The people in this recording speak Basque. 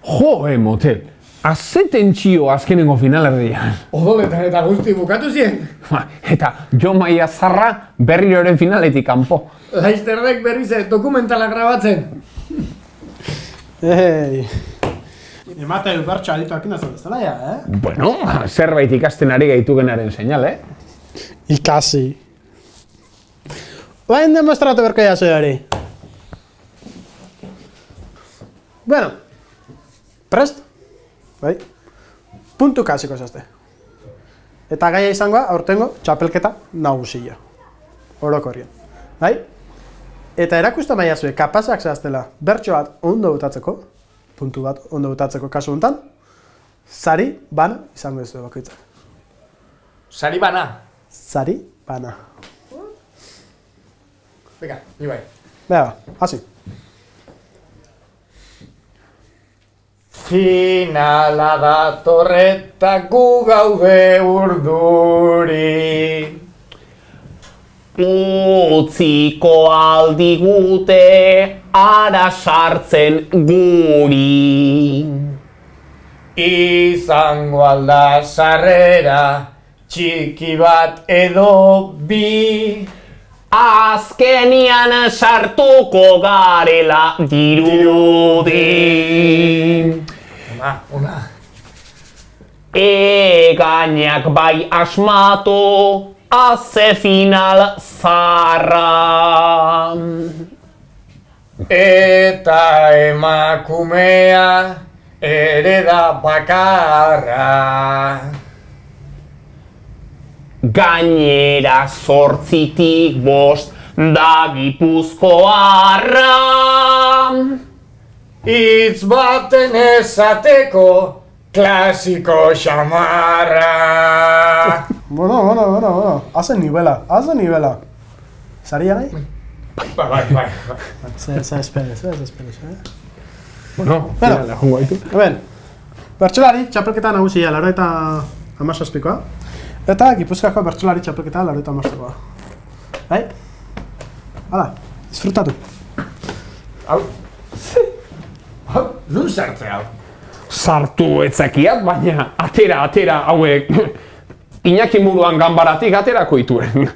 Jo, motel. Azeten txio azkenengo finalerdian. Odoletan eta guzti bukatu zien. Eta Jo Maia Zarra berriroren finaletik kanpo. Laizterrek berriz dokumentala grabatzen. Ei. Ematen bertso adituak inazan ez dela, ja, Bueno, zerbait ikasten ari gaitu genaren seinale. Ikasi. Bain demostratu berko jaso hori. Bueno. Prest? Bai. Puntu kasiko zazte. Eta gaia izangoa, aurtengo, txapelketa nagusia. Orokorrien. Bai? Eta erakusta maia zuen, kapazak zehaztela, bertso bat ondo botatzeko, puntu bat ondo botatzeko kasu honetan, sari bana izango ez du bakoitzak. Sari bana. Sari bana. Venga, ni bai. Bega, hasi. Finala datorreta gu gaude urduri. Utziko aldigute ara sartzen guri. Izango alda sarrera, txiki bat edo bi. Azkenian sartuko garela dirudi. Una. Egainak bai asmatu, aze final zarra. Eta emakumea ere da bakarra. Gainera 8tik 5 da Gipuzkoarra. Hitz baten esateko klasiko xamarra. Bueno. Hazen nivela. Saria nahi? Bai. Zer esperes, Bueno, finala jongo gaitu. Hemen, bertsolari txapelketa nagusia, 97koa. Eta Gipuzkoako bertsolari txapelketa 95koa. Bai? Hala, disfrutatu. Hau, nun sartze hau? Sartu etzakiat, baina atera hauek Iñaki Muruan ganbaratik aterako ituen.